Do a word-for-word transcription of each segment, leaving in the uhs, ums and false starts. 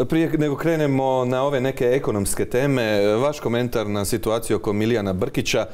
Prije nego krenemo na ove neke ekonomske teme, vaš komentar na situaciju oko Milijana Brkića.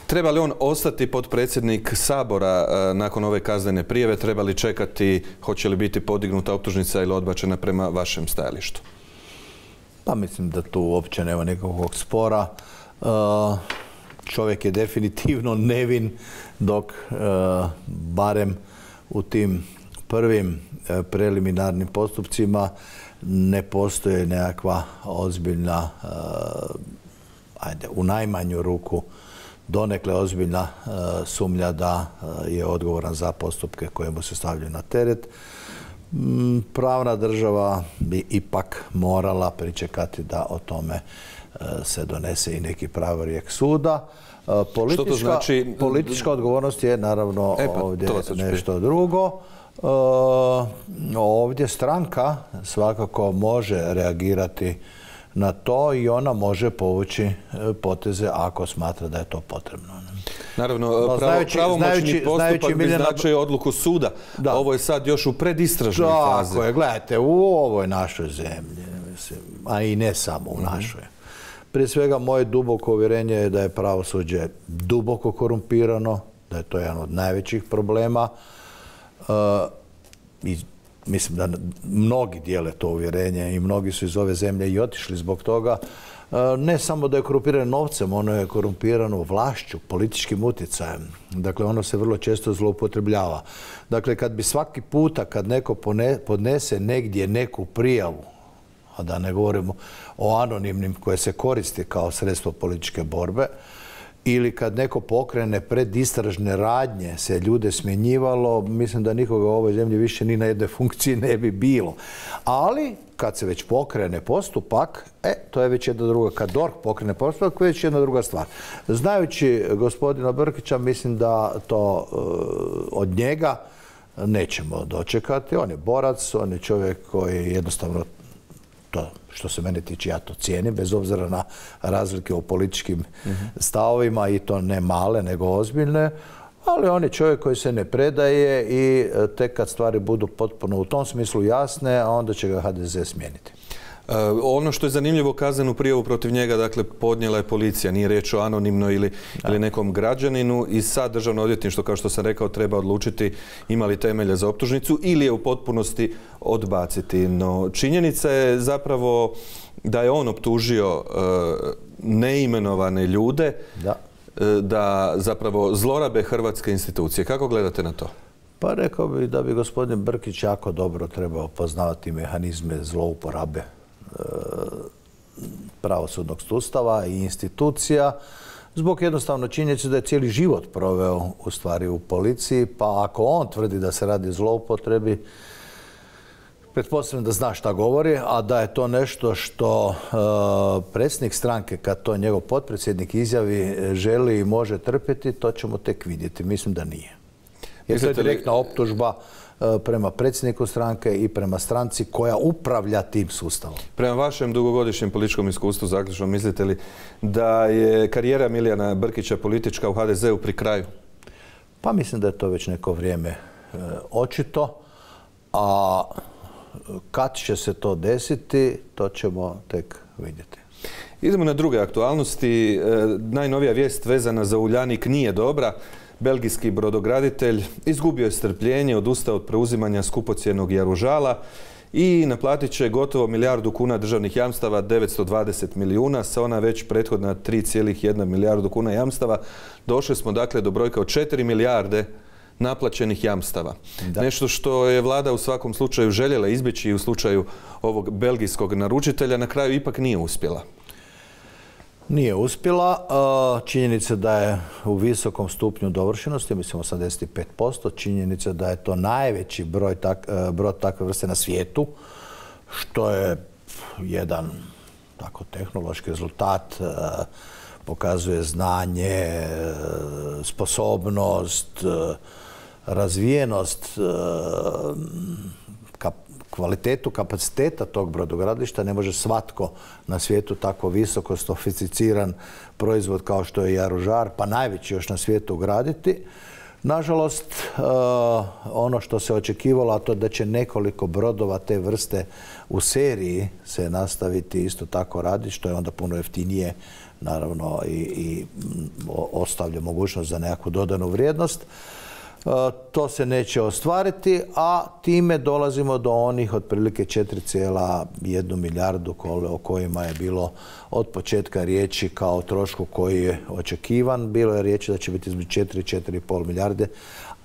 Treba li on ostati potpredsjednik Sabora nakon ove kaznene prijave? Treba li čekati, hoće li biti podignuta optužnica ili odbačena prema vašem stajalištu? Pa mislim da tu uopće nema nekakvog spora. Čovjek je definitivno nevin, dok barem u tim prvim preliminarnim postupcima ne postoje nekakva ozbiljna, ajde, u najmanju ruku donekle ozbiljna sumnja da je odgovoran za postupke koje mu se stavljaju na teret. Pravna država bi ipak morala pričekati da o tome se donese i neki pravorijek suda. Politička, Što to znači? Politička odgovornost je naravno e pa, ovdje nešto drugo. Uh, ovdje stranka svakako može reagirati na to i ona može povući poteze ako smatra da je to potrebno. Naravno, pravo, znajući, pravomoćni znajući, postupak znajući bi Miljana... značio odluku suda. Da. Ovo je sad još u predistražnoj fazi. Tako je, gledajte, u ovoj našoj zemlji, mislim, a i ne samo u mm-hmm. našoj. Prije svega, moje duboko uvjerenje je da je pravosuđe duboko korumpirano, da je to jedan od najvećih problema. Uh, i mislim da mnogi dijele to uvjerenje i mnogi su iz ove zemlje i otišli zbog toga. Uh, ne samo da je korumpirano novcem, ono je korumpirano vlašću, političkim utjecajem. Dakle, ono se vrlo često zloupotrebljava. Dakle, kad bi svaki puta kad neko podnese negdje neku prijavu, a da ne govorimo o anonimnim koje se koristi kao sredstvo političke borbe, ili kad neko pokrene predistražne radnje, se ljude smjenjivalo, mislim da nikoga u ovoj zemlji više ni na jednoj funkciji ne bi bilo. Ali, kad se već pokrene postupak, e, to je već jedna druga. Kad D O R H pokrene postupak, to je već jedna druga stvar. Znajući gospodina Brkića, mislim da to uh, od njega nećemo dočekati. On je borac, on je čovjek koji jednostavno, to što se mene tiče, ja to cijenim, bez obzira na razlike u političkim mm-hmm. stavovima, i to ne male, nego ozbiljne, ali on je čovjek koji se ne predaje i tek kad stvari budu potpuno u tom smislu jasne, onda će ga H D Z smijeniti. Uh, ono što je zanimljivo, kaznenu prijavu protiv njega, dakle, podnijela je policija, nije riječ o anonimnoj ili, ili nekom građaninu, i sad Državno odvjetništvo, kao što sam rekao, treba odlučiti ima li temelja za optužnicu ili je u potpunosti odbaciti. No, činjenica je zapravo da je on optužio uh, neimenovane ljude da. Uh, da zapravo zlorabe hrvatske institucije. Kako gledate na to? Pa rekao bih da bi gospodin Brkić jako dobro trebao poznavati mehanizme zlouporabe pravosudnog sustava i institucija, zbog jednostavno činjenice da je cijeli život proveo u stvari u policiji, pa ako on tvrdi da se radi o zloupotrebi, pretpostavljam da zna šta govori, a da je to nešto što uh, predsjednik stranke, kad to njegov potpredsjednik izjavi, želi i može trpjeti, to ćemo tek vidjeti. Mislim da nije. Jer to je direktna optužba prema predsjedniku stranke i prema stranci koja upravlja tim sustavom. Prema vašem dugogodišnjem političkom iskustvu, zaključno, mislite li da je karijera Milijana Brkića politička u H D Z-u pri kraju? Pa mislim da je to već neko vrijeme e, očito, a kad će se to desiti, to ćemo tek vidjeti. Idemo na druge aktualnosti. E, najnovija vijest vezana za Uljanik nije dobra. Belgijski brodograditelj izgubio je strpljenje, odustao od preuzimanja skupocjenog Jaružala i naplatit će gotovo milijardu kuna državnih jamstava, devetsto dvadeset milijuna, sa ona već prethodna tri zarez jedna milijardu kuna jamstava. Došli smo dakle do brojka od četiri milijarde naplaćenih jamstava. Da. Nešto što je vlada u svakom slučaju željela izbjeći i u slučaju ovog belgijskog naručitelja, na kraju ipak nije uspjela. Nije uspjela. Činjenica da je u visokom stupnju dovršenosti, mislim osamdeset pet posto, činjenica da je to najveći broj tak, brod takve vrste na svijetu, što je jedan tako tehnološki rezultat, pokazuje znanje, sposobnost, razvijenost, kvalitetu kapaciteta tog brodogradilišta. Ne može svatko na svijetu tako visoko sofisticiran proizvod kao što je Jaružar, pa najveći još na svijetu, graditi. Nažalost, ono što se očekivalo, a to da će nekoliko brodova te vrste u seriji se nastaviti isto tako raditi, što je onda puno jeftinije, naravno, i, i ostavlja mogućnost za nekakvu dodanu vrijednost. To se neće ostvariti, a time dolazimo do onih otprilike četiri zarez jedna milijardu o kojima je bilo od početka riječi kao trošku koji je očekivan. Bilo je riječi da će biti između četiri i četiri i pol milijarde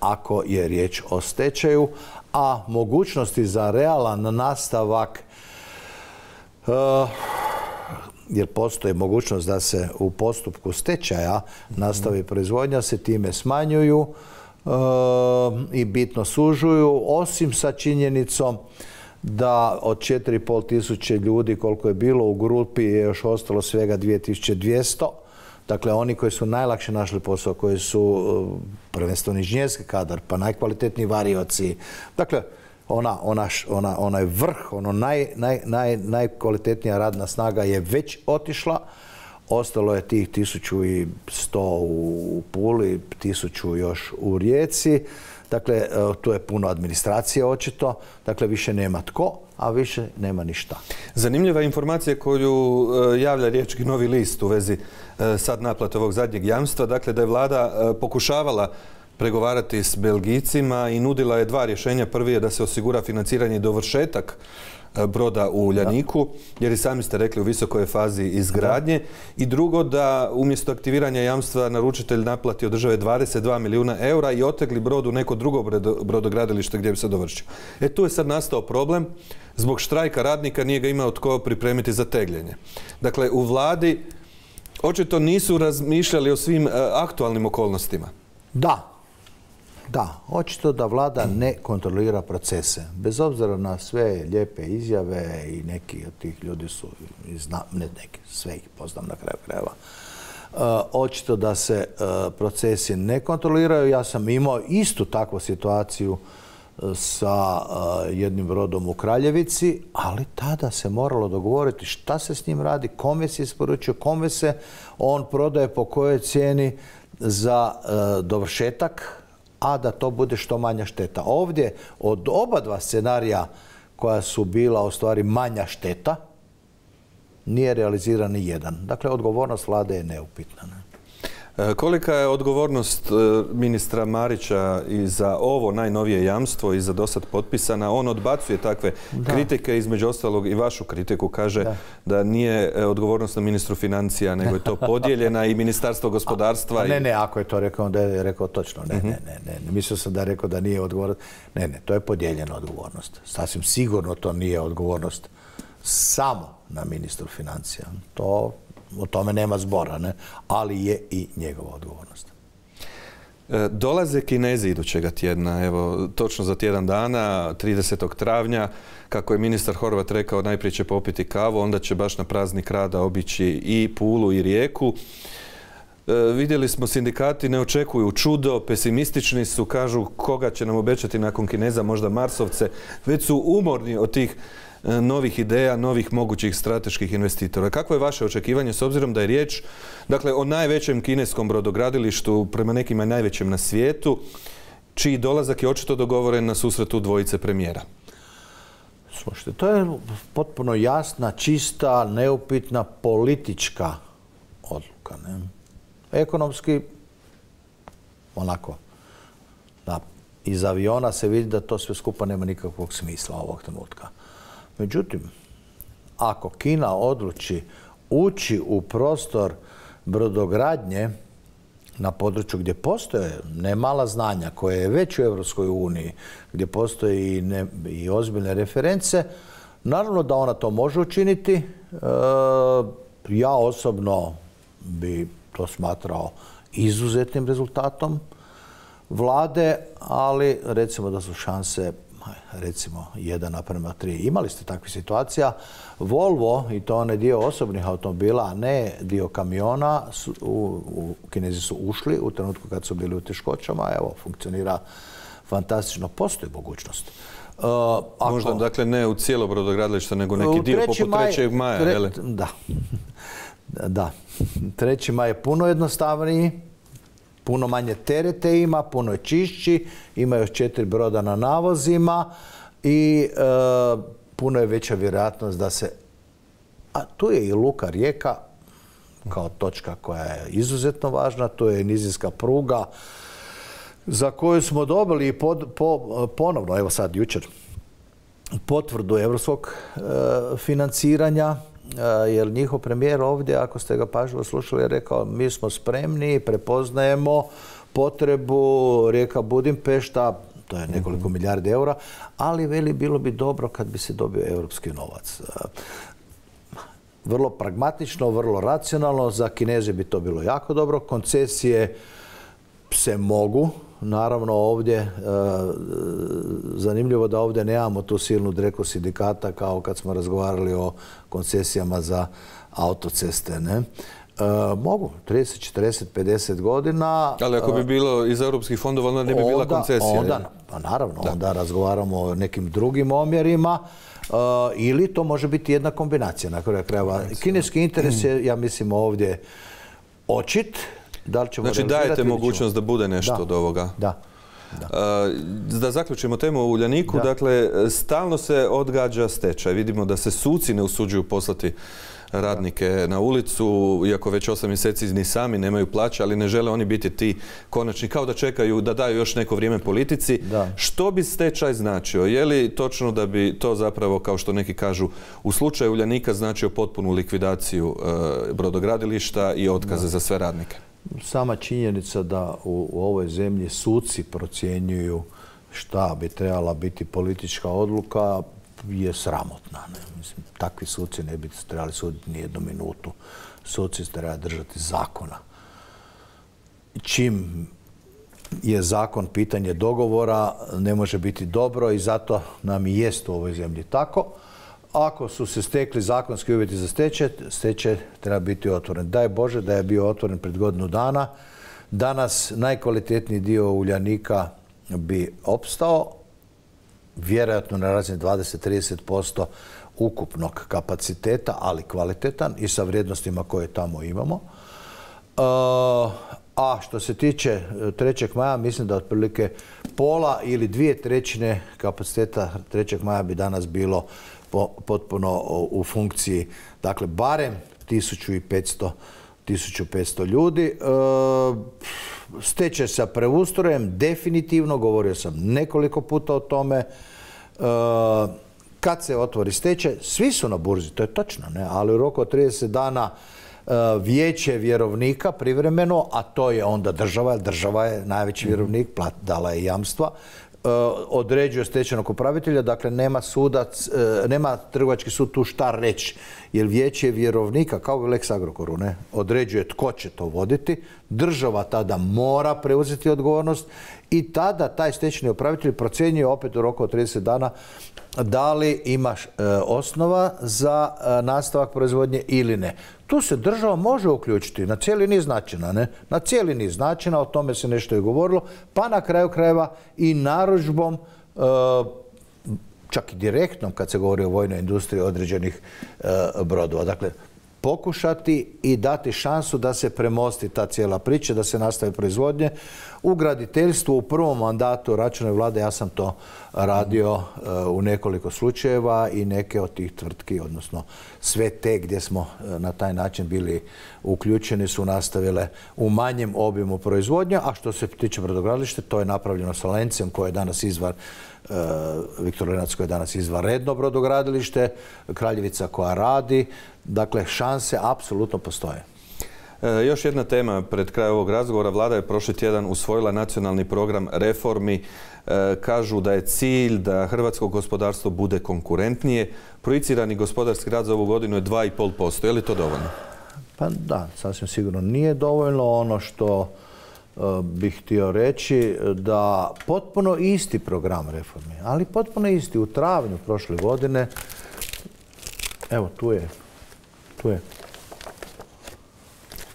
ako je riječ o stečaju, a mogućnosti za realan nastavak, jer postoji mogućnost da se u postupku stečaja nastavi proizvodnja, se time smanjuju i bitno sužuju, osim sa činjenicom da od četiri i pol tisuće ljudi koliko je bilo u grupi je još ostalo svega dvije tisuće dvjesto. Dakle, oni koji su najlakše našli posao, koji su prvenstveno inženjerski kadar, pa najkvalitetniji varioci. Dakle, ona, ona, ona, onaj vrh, ono naj, naj, naj, najkvalitetnija radna snaga je već otišla. Ostalo je tih tisuću i sto u Puli, tisuću još u Rijeci. Dakle, tu je puno administracije očito. Dakle, više nema tko, a više nema ništa. Zanimljiva informacija koju javlja Riječki Novi list u vezi sad naplate ovog zadnjeg jamstva. Dakle, da je vlada pokušavala pregovarati s Belgijcima i nudila je dva rješenja. Prvi je da se osigura financiranje i dovršetak broda u Uljaniku, jer i sami ste rekli u visokoj je fazi izgradnje. I drugo, da umjesto aktiviranja jamstva naručitelj naplati od države dvadeset dva milijuna eura i otegli brod u neko drugo brodogradilište gdje bi se dovršio. E tu je sad nastao problem. Zbog štrajka radnika nije ga imao tko pripremiti za tegljenje. Dakle, u vladi očito nisu razmišljali o svim aktualnim okolnostima. Da. Da, očito da vlada ne kontrolira procese. Bez obzira na sve lijepe izjave i neki od tih ljudi su, ne neki, sve ih poznam na kraju krajeva. Očito da se procesi ne kontroliraju. Ja sam imao istu takvu situaciju sa jednim brodom u Kraljevici, ali tada se moralo dogovoriti šta se s njim radi, kome se isporučuje, kome se on prodaje, po kojoj cijeni za dovršetak, a da to bude što manja šteta. Ovdje od oba dva scenarija koja su bila u stvari manja šteta, nije realiziran ni jedan. Dakle, odgovornost vlade je neupitna. Ne? Kolika je odgovornost ministra Marića i za ovo najnovije jamstvo i za dosad potpisana? On odbacuje takve da. kritike, između ostalog i vašu kritiku, kaže da, da nije odgovornost na ministru financija, nego je to podijeljena i ministarstvo gospodarstva. A, a ne, i... ne, ako je to rekao, da je rekao točno. Ne, uh-huh. ne, ne, ne, ne. Mislio sam da je rekao da nije odgovornost. Ne, ne, to je podijeljena odgovornost. Sasvim sigurno to nije odgovornost samo na ministru financija. To... O tome nema zbora, ne? Ali je i njegova odgovornost. E, dolaze Kinezi idućega tjedna, evo, točno za tjedan dana, tridesetog travnja, kako je ministar Horvat rekao, najprije će popiti kavu, onda će baš na praznik rada obići i Pulu i Rijeku. E, vidjeli smo, sindikati ne očekuju čudo, pesimistični su, kažu koga će nam obećati nakon Kineza, možda Marsovce, već su umorni od tih novih ideja, novih mogućih strateških investitora. Kako je vaše očekivanje s obzirom da je riječ, dakle, o najvećem kineskom brodogradilištu, prema nekima najvećem na svijetu, čiji dolazak je očito dogovoren na susretu dvojice premijera? Slušajte, to je potpuno jasna, čista, neupitna politička odluka. Ne? Ekonomski, onako, da, iz aviona se vidi da to sve skupa nema nikakvog smisla ovog trenutka. Međutim, ako Kina odluči ući u prostor brodogradnje na području gdje postoje nemala znanja koje je već u Europskoj uniji, gdje postoje i, ne, i ozbiljne reference, naravno da ona to može učiniti. E, ja osobno bi to smatrao izuzetnim rezultatom vlade, ali recimo da su šanse recimo jedan naprema tri. Imali ste takvih situacija. Volvo, i to onaj dio osobnih automobila, a ne dio kamiona, su, u, u Kinezi su ušli u trenutku kad su bili u teškoćama. Evo, funkcionira fantastično. Postoji mogućnost. Uh, ako, Možda, dakle, ne u cijelo brodogradilište, nego neki dio poput trećeg maja. Tre, da. Da. treći maj je puno jednostavniji. Puno manje terete ima, puno je čišći, ima još četiri broda na navozima i e, puno je veća vjerojatnost da se... A tu je i luka Rijeka kao točka koja je izuzetno važna, to je nizinska pruga za koju smo dobili pod, po, ponovno, evo sad jučer, potvrdu europskog e, financiranja, e, jer njihov premijer ovdje, ako ste ga pažljivo slušali, je rekao mi smo spremni, prepoznajemo potrebu Rijeka Budimpešta, to je nekoliko milijardi eura, ali veli bilo bi dobro kad bi se dobio europski novac. Vrlo pragmatično, vrlo racionalno, za Kineze bi to bilo jako dobro. Koncesije se mogu, naravno ovdje, e, zanimljivo da ovdje nemamo tu silnu dreku sindikata kao kad smo razgovarali o koncesijama za autoceste, ne? E, mogu, trideset, četrdeset, pedeset godina. Ali ako bi bilo iz europskih fondova, onda ne bi bila koncesija. Onda, pa naravno, da. Onda razgovaramo o nekim drugim omjerima. Uh, ili to može biti jedna kombinacija na kraju krajeva. Kineski interes je, ja mislim, ovdje očit. Da li ćemo znači dajete mogućnost da bude nešto da. od ovoga. Da. Da. Uh, da zaključimo temu o Uljaniku, da. Dakle, stalno se odgađa stečaj. Vidimo da se suci ne usuđuju poslati radnike da. Na ulicu, iako već osam mjeseci ni sami nemaju plaće, ali ne žele oni biti ti konačni, kao da čekaju da daju još neko vrijeme politici. Da. Što bi stečaj značio? Je li točno da bi to zapravo, kao što neki kažu, u slučaju Uljanika značio potpunu likvidaciju e, brodogradilišta i otkaze da. Za sve radnike? Sama činjenica da u, u ovoj zemlji suci procjenjuju šta bi trebala biti politička odluka je sramotna. Ne? Mislim, takvi suci ne bi trebali suditi ni jednu minutu. Suci se treba držati zakona. Čim je zakon pitanje dogovora, ne može biti dobro i zato nam i jest u ovoj zemlji tako. Ako su se stekli zakonski uvjeti za stečaj, stečaj treba biti otvoren. Daj Bože da je bio otvoren pred godinu dana. Danas najkvalitetniji dio Uljanika bi opstao, vjerojatno na razini dvadeset do trideset posto ukupnog kapaciteta, ali kvalitetan i sa vrijednostima koje tamo imamo. A što se tiče trećeg maja, mislim da otprilike pola ili dvije trećine kapaciteta trećeg maja bi danas bilo potpuno u funkciji, dakle, barem tisuću petsto ljudi. Stečaj sa preustrojem, definitivno, govorio sam nekoliko puta o tome, kad se otvori stečaj, svi su na burzi, to je točno, ne? Ali u roku od trideset dana vijeće vjerovnika privremeno, a to je onda država, jer država je najveći vjerovnik, dala je jamstva, određuje stečajnog upravitelja, dakle nema sudac, nema trgovački sud tu šta reći, jer vijeće vjerovnika, kao u Lex Agrokoru, ne, određuje tko će to voditi, država tada mora preuzeti odgovornost i tada taj stečajni upravitelj procjenjuje opet u roku od trideset dana da li imaš e, osnova za e, nastavak proizvodnje ili ne. Tu se država može uključiti na cijeli niz načina, ne? Na cijeli niz načina, o tome se nešto i govorilo, pa na kraju krajeva i narudžbom, e, čak i direktnom kad se govori o vojnoj industriji određenih e, brodova. Dakle, pokušati i dati šansu da se premosti ta cijela priča, da se nastavi proizvodnje. U graditeljstvu u prvom mandatu Račanove vlade ja sam to radio uh, u nekoliko slučajeva i neke od tih tvrtki, odnosno sve te gdje smo uh, na taj način bili uključeni su nastavile u manjem obimu proizvodnje, a što se tiče brodogradilišta, to je napravljeno sa Lencem koje je danas izvar Uh, Viktor Lenac koji je danas izvanredno brodogradilište, Kraljevica koja radi, dakle šanse apsolutno postoje. E, još jedna tema pred kraj ovog razgovora. Vlada je prošli tjedan usvojila nacionalni program reformi. E, kažu da je cilj da hrvatsko gospodarstvo bude konkurentnije. Projicirani gospodarski rast za ovu godinu je dva i pol posto. Je li to dovoljno? Pa da, sasvim sigurno nije dovoljno. Ono što bih htio reći da potpuno isti program reformi, ali potpuno isti u travnju prošle godine, evo tu je, tu je,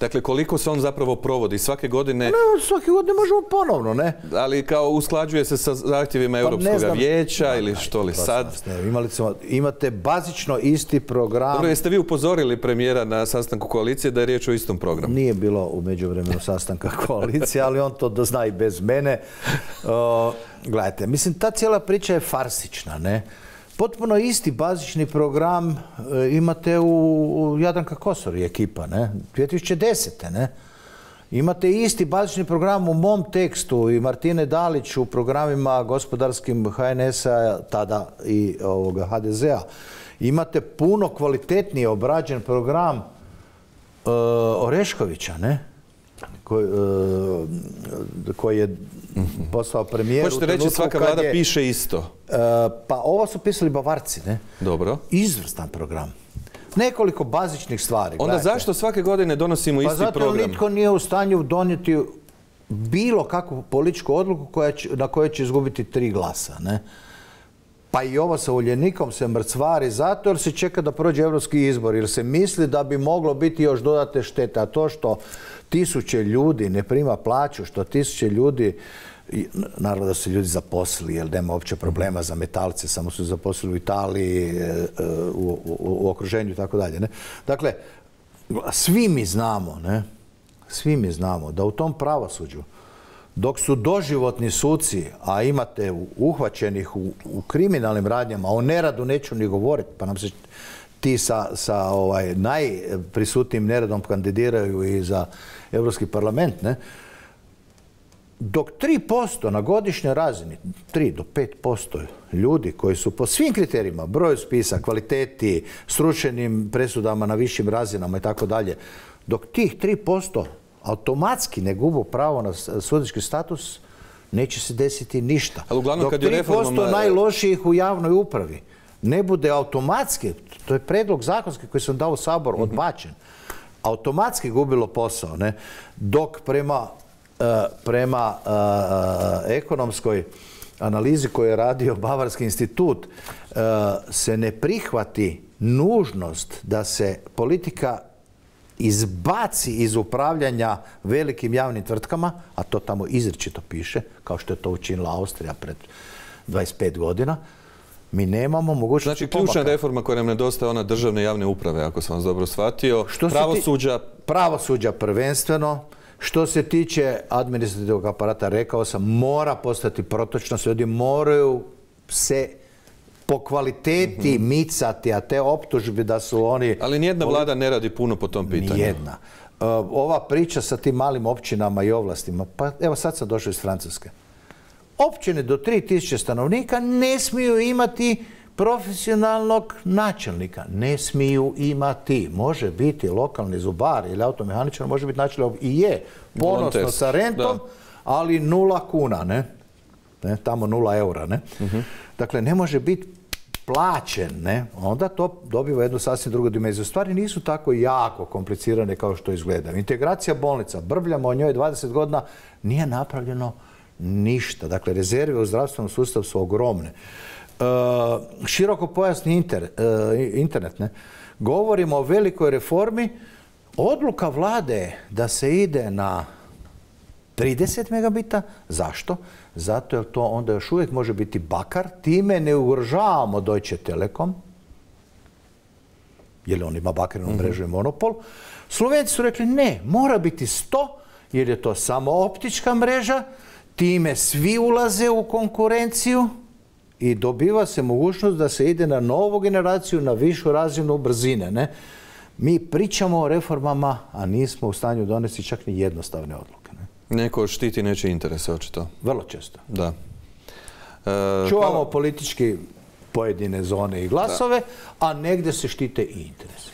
Dakle, koliko se on zapravo provodi? Svake godine... Ne, svake godine možemo ponovno, ne? Ali kao usklađuje se sa zahtjevima Europskog vijeća ili što li sad? Ne, imali smo, imate bazično isti program... Dobro, jeste vi upozorili premijera na sastanku koalicije da je riječ o istom programu? Nije bilo u međuvremenu sastanka koalicije, ali on to dozna i bez mene. O, gledajte, mislim, ta cijela priča je farsična, ne? Potpuno isti bazični program e, imate u, u Jadranka Kosor i ekipa, ne? dvije tisuće desete. ne? Imate isti bazični program u mom tekstu i Martine Dalić u programima gospodarskim H N S-a tada i ovoga H D Z-a. Imate puno kvalitetnije obrađen program e, Oreškovića, ne? Koji, uh, koji je postao premijer. Hoćete reći svaka vlada je, piše isto? Uh, pa ovo su pisali Bavarci, ne? Dobro. Izvrstan program. Nekoliko bazičnih stvari. Onda gledajte. Zašto svake godine donosimo pa isti zato program? zato nitko nije u stanju donijeti bilo kakvu političku odluku koja će, na kojoj će izgubiti tri glasa, ne? Pa i ovo sa Uljanikom se mrcvari zato jer se čeka da prođe europski izbor, jer se misli da bi moglo biti još dodatne štete. A to što tisuće ljudi ne prima plaću, što tisuće ljudi, naravno da su ljudi zaposlili, jer nema uopće problema za metalce, samo su zaposlili u Italiji, u, u, u okruženju i tako dalje. Ne? Dakle, svi mi znamo, ne? Svi mi znamo da u tom pravosuđu, dok su doživotni suci, a imate uhvaćenih u, u kriminalnim radnjama, o neradu neću ni govoriti, pa nam se ti sa, sa ovaj, najprisutnijim neradom kandidiraju i za Europski parlament, ne? Dok tri posto na godišnjoj razini, tri do pet posto ljudi koji su po svim kriterijima, broju spisa, kvaliteti, srušenim presudama na višim razinama i tako dalje, dok tih tri posto automatski ne gubu pravo na sudački status, neće se desiti ništa. Ali uglavnom, dok kad je tri posto reformama... najlošijih u javnoj upravi ne bude automatski, to je predlog zakonski koji sam dao u Sabor, mm-hmm. odbačen, automatski gubilo posao, ne? Dok prema, uh, prema uh, ekonomskoj analizi koju je radio Bavarski institut uh, se ne prihvati nužnost da se politika izbaci iz upravljanja velikim javnim tvrtkama, a to tamo izričito piše, kao što je to učinila Austrija pred dvadeset pet godina, mi nemamo mogućnosti Znači, ključna pomaka. reforma koja nam nedostaje ona državne javne uprave, ako sam vas dobro shvatio. Što pravosuđa... Ti, pravosuđa prvenstveno. Što se tiče administrativnog aparata, rekao sam, mora postati protočno. Ljudi moraju se po kvaliteti mm-hmm. micati, a te optužbe da su oni... Ali nijedna vlada ne radi puno po tom pitanju. Nijedna. Uh, ova priča sa tim malim općinama i ovlastima, pa evo sad sam došao iz Francuske. Općine do tri tisuće stanovnika ne smiju imati profesionalnog načelnika. Ne smiju imati. Može biti lokalni zubar ili automehaničar, može biti načelnik i je ponosno sa rentom, da. Ali nula kuna, ne? Ne? Tamo nula eura, ne? Uh-huh. Dakle, ne može biti plaćen, ne? Onda to dobiva jednu sasvim drugu dimenziju. Stvari nisu tako jako komplicirane kao što izgleda. Integracija bolnica, brbljamo o njoj dvadeset godina, nije napravljeno ništa. Dakle, rezerve u zdravstvenom sustavu su ogromne. E, široko pojasni inter, e, internet, ne? Govorimo o velikoj reformi. Odluka vlade je da se ide na trideset megabita. Zašto? Zato jer to onda još uvijek može biti bakar. Time ne ugrožavamo Deutsche Telekom, jer on ima bakarnu mrežu i monopol. Slovenci su rekli ne, mora biti sto, jer je to samo optička mreža. Time svi ulaze u konkurenciju i dobiva se mogućnost da se ide na novu generaciju, na višu razinu brzine. Ne? Mi pričamo o reformama, a nismo u stanju donesti čak ni jednostavne odluke. Ne? Neko štiti nečije interese, očito. Vrlo često. Da. E, Čuvamo pa... politički pojedine zone i glasove, da. A negdje se štite i interese.